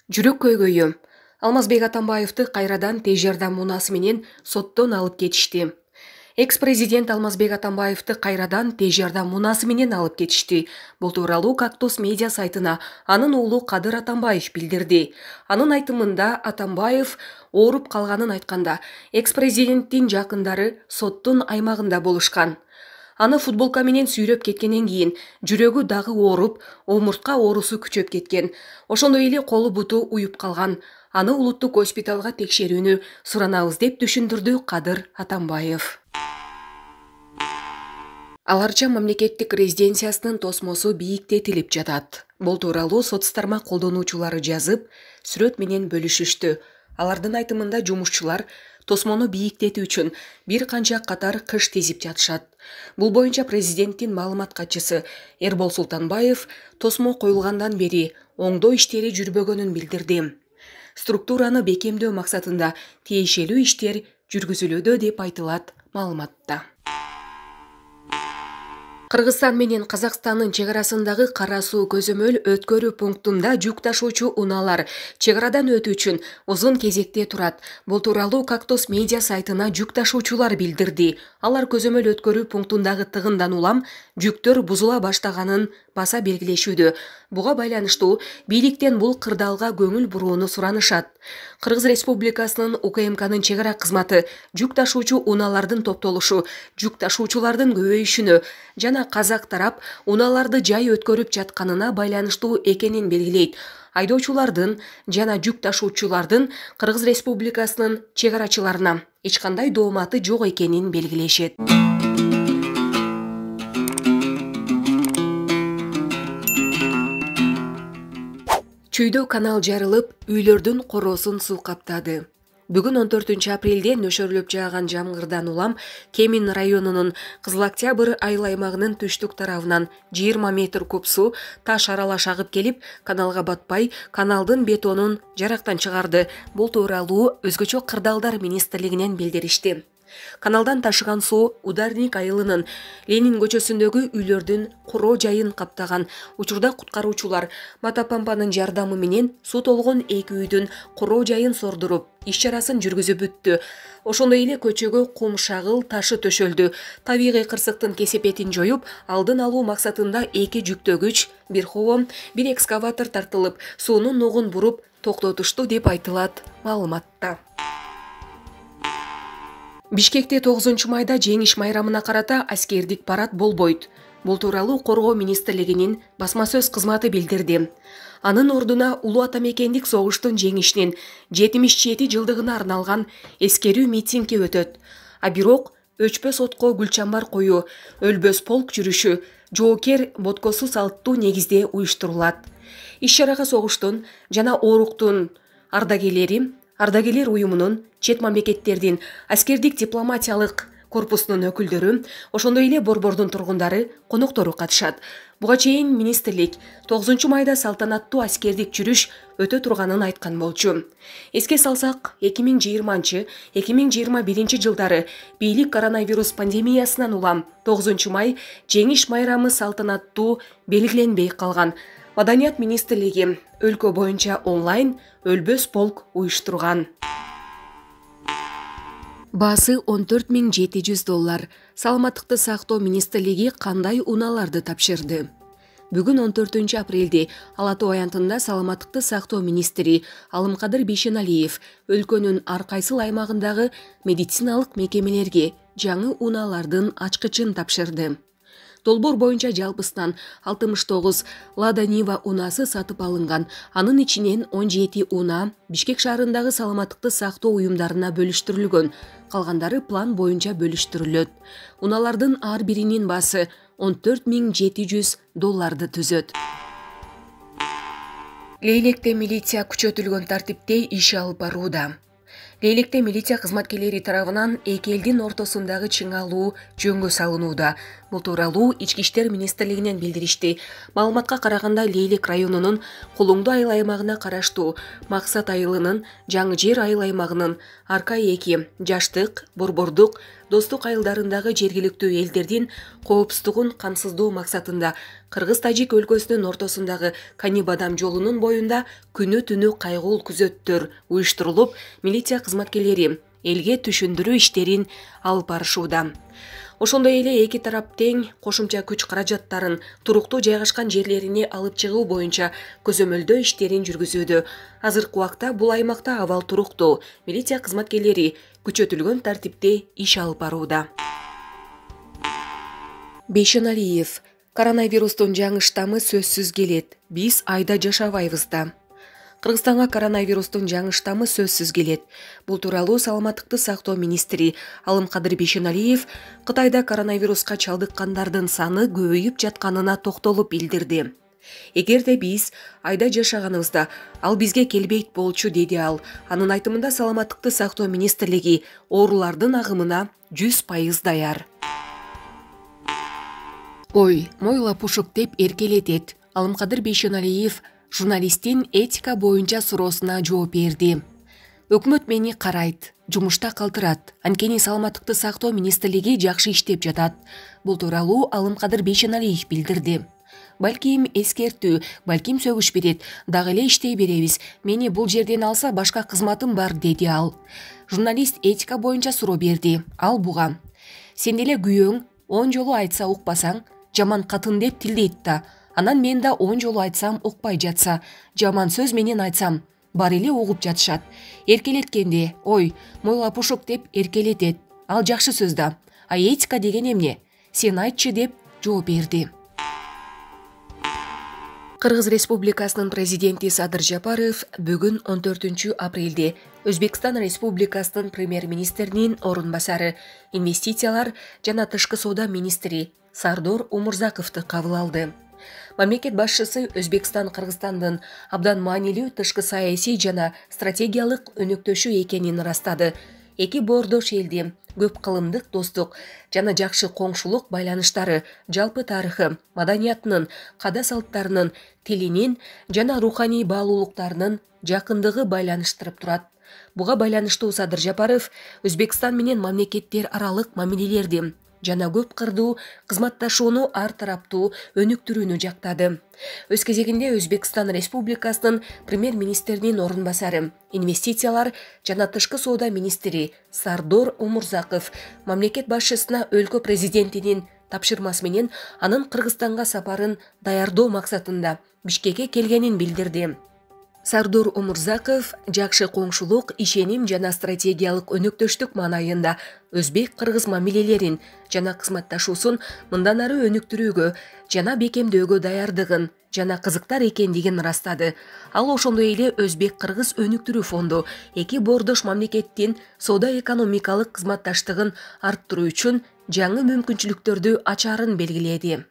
Жүрөк көйгөйү. Алмазбек Атамбаевди кайрадан тез жардам унаасы менен соттон алып кетишти. Экс-президент Алмазбек Атамбаевди кайрадан тез жардам унаасы менен алып кетишти. Бул тууралуу Кактус медиа сайтына анын уулу Кадыр Атамбаев билдирди. Анын айтымында Атамбаев ооруп калганын айтканда, экс-президенттин жакындары соттун аймагында болушкан. Аны футболка менен сүйрөп кеткенден кийин жүрөгү дагы ооруп, омуртка оорусу күчөп кеткен. Ошондой эле колу буту уюп калган. Аны улуттук госпиталга текшерүүнү суранабыз деп түшүндүрдү Кадыр Атамбаев. Аларча мамлекеттик резиденциясынын тосмосу бийиктетилип жатат. Бул тууралуу соц тармак колдонуучулары жазып, сүрөт менен бөлүшүштү. Алардын айтымында жумушчулар тосмону бийиктетүү үчүн бир канча катар кыш тизип жатышат. Бул боюнча президенттин маалымат катчысы Эрбол Султанбаев тосмо коюлгандан бери оңдоо иштери жүрбөгөнүн билдирди. Структураны бекемдөө максатында тиешелүү иштер жүргүзүлүүдө деп айтылат маалыматта. Кыргызстан менен Казакстандын чек арасындагы Кара суу көзөмөл өткөрүү пунктунда жүк ташуучу унаалар чек арадан өтүү үчүн узун кезекте турат. Бул тууралуу Кактус медиа сайтына жүк ташуучулар билдирди. Алар көзөмөл өткөрүү пунктундагы тыгындан улам жүктөр бузула баштаганын баса белгилешүүдө. Буга байланыштуу бийликтен бул кырдаалга көңүл бурууну суранышат. Кыргыз Республикасынын УКМКнын чек ара кызматы жүк ташуучу унаалардын топтолушу, жүк ташуучулардын көбөйүшүнө жана казак тарап унааларды жай өткөрүп жатканына байланыштуу экенин белгилейт. Айдоочулардын жана жүк ташуучулардын Кыргыз Республикасынын чек арачыларына эч кандай дооматы жок экенин белгилешет. Чүйдө канал жарылып, үйлөрдүн короосун суу каптады. Бүгүн 14 апрелде нөшөрлөп жааган жамгырдан улам Кемин районунун Кызыл Октябрь айыл аймагынын түштүк тарабынан 20 метр куб суу таш аралаш агып келип, каналга батпай, каналдын бетонун жарактан чыгарды. Бул тууралуу Өзгөчө кырдаалдар министрлигинен билдиришти. Каналдан ташыган суу Ударник айылынын Ленин көчөсүндөгү үйлөрдүн куроо жайын каптаган. Учурда куткаруучулар мотопомпанын жардамы менен суу толгон эки үйдүн куроо жайын сордуруп, иш чарасын жүргүзүп бүттү. Ошондой эле көчөгө кум шагыл ташы төшөлдү. Табигый кырсыктын кесепетин жоюп, алдын алуу максатында 2 жүктөгүч, 1 ховом, 1 экскаватор тартылып, суунун нугун буруп токтотушту деп айтылат маалыматта. Бишкекте 9 майда жеңиш майрамына карата аскердик парад болбойт. Бул тууралуу Коргоо министрлигинин басма сөз кызматы билдирди. Анын ордуна улуу атамекендик согуштун жеңишинин 77 жылдыгына арналган эскерүү митинги өтөт. А бирок өчпөс отко гүлчамбар коюу, өлбөс полк жүрүшү жоокер боткосу салттуу негизде уюштурулат. Иш чарага согуштун жана ооруктун ардагерлер уюмунун, чет мамлекеттердин аскердик дипломатиялык корпусунун өкүлдөрү, ошондой эле борбордун тургундары, коноктору катышат. Буга чейин министрлик 9 майда салтанаттуу аскердик жүрүш өтө турганын айткан болчу. Эске салсак, 2020-2021 жылдары бийлик коронавирус пандемиясынан улам 9 май жеңиш майрамы салтанаттуу белгиленбей калган. Маданият министрлиги өлкө боюнча онлайн өлбөс полк уюштурган. Баасы $14,700. Саламаттыкты сактоо министрлиги кандай унааларды тапшырды? Бүгүн 14 апрелде Ала Тоо аянтында саламаттыкты сактоо министри Алымкадыр Бейшеналиев өлкөнүн ар кайсыл аймагындагы медициналык мекемелерге жаңы унаалардын ачкычын тапшырды. Долбоор боюнча жалпысынан 69 Лада Нива унаасы сатып алынган. Анын ичинен 17 унаа Бишкек шаарындагы саламаттыкты сактоо уюмдарына бөлүштүрүлгөн. Калгандары план боюнча бөлүштүрүлөт. Унаалардын ар биринин баасы $14,700 түзөт. Лейлекте милиция күчөтүлгөн тартипте иш алып барууда. Лейлекте милиция кызматкерлери тарабынан эки элдин ортосундагы чыңалуу жөнгө салынууда. Бул тууралуу Ички иштер министрлигинен билдиришти. Маалыматка караганда Лейлек районунун Кулуңду айыл аймагына караштуу Максат айылынын Жаңы Жер айыл аймагынын Арка-2, Жаштык, Борбордук, Достук айылдарындагы жергиликтүү элдердин коопсуздугун камсыздоо максатында Кыргыз-Тажик өлкөсүнүн ортосундагы Кани-Бадам жолунун боюнда күнү-түнү кайгыл күзөттөр уюштурулуп, милиция кызматкерлери элге түшүндүрүү иштерин алып барышууда. Ошондой эле эки тарап тең кошумча күч каражаттарын туруктуу жайгашкан жерлерине алып чыгуу боюнча көзөмөлдөө иштерин жүргүзүүдө. Азыркы убакта бул аймакта абал туруктуу. Милиция кызматкерлери күчөтүлгөн тартипте иш алып барууда. Бейшеналиев: коронавирустун жаңы штаммы сөзсүз келет. Биз айда жашабайбыз да. Кыргызстанга коронавирустун жаңы штаммы сөзсүз келет. Бул тууралуу саламаттыкты сактоо министри Алымкадыр Бейшеналиев Кытайда коронавируска чалдыккандардын саны көбөйүп жатканына токтолуп билдирди. Эгерде биз айда жашаганыбызда ал бизге келбейт болчу, деди ал. Анын айтымында саламаттыкты сактоо министрлиги оорулардын агымына 100% даяр. Ой, мой лапушук деп эркелетет. Алымкадыр Бейшеналиев журналисттин этика боюнча суроосуна жооп берди. Өкмөт мени карайт, жумушта калтырат. Анткени саламаттыкты сактоо министрлиги жакшы иштеп жатат. Бул тууралуу Алымкадыр Бейшеналиев билдирди. Балким эскертүү, балким сөгүш берет, дагы эле иштей беребиз. Мени бул жерден алса башка кызматым бар, деди ал. Журналист этика боюнча суроо берди. Ал буга: сен деле күйөөң 10 жолу айтса укпасаң, жаман катын деп тилдейт да. Анан мен да 10 жолу айтсам укпай жатса, жаман сөз менен айтсам, бар эле угуп жатышат. Эркелеткенде, ой, мой лапушук деп эркелетет. Ал жакшы сөз да. А этика деген эмне? Сен айтчы, деп жооп берди. Кыргыз Республикасынын президенти Садыр Жапаров бүгүн 14 апрелде Өзбекстан Республикасынын премьер-министринин орун басары, инвестициялар жана тышкы соода министри Сардор Умурзаковду кабыл алды. Мамлекет башчысы Өзбекстан Кыргызстандын абдан маанилүү тышкы саясий жана стратегиялык өнөктөшү экенин ырастады. Эки боордош элди көп кылымдык достук жана жакшы коңшулук байланыштары жалпы тарыхы, маданиятынын, када салттарынын, тилинин жана руханий баалуулуктарынын жакындыгы байланыштырып турат. Буга байланыштуу Садыр Жапаров Өзбекстан менен мамлекеттер аралык мамилелерди жана көп кырдуу кызматташууну ар тараптуу өнүктүрүүнү жактады. Өз кезегинде Өзбекстан Республикасынын премьер-министринин орун басары, инвестициялар жана тышкы соода министри Сардор Умурзаков мамлекет башчысына өлкө президентинин тапшырмасы менен анын Кыргызстанга сапарын даярдоо максатында Бишкекке келгенин билдирди. Сардор Умурзаков жакшы коңшулук, ишеним жана стратегиялык өнөктөштүк маанайында өзбек-кыргыз мамилелерин жана кызматташуусун мындан ары өнүктүрүүгө жана бекемдөөгө даярдыгын жана кызыктар экендигин ырастады. Ал ошондой эле Өзбек-кыргыз өнүктүрүү фонду эки боордош мамлекеттин соода-экономикалык кызматташтыгын арттыруу үчүн жаңы мүмкүнчүлүктөрдү ачаарын белгиледи.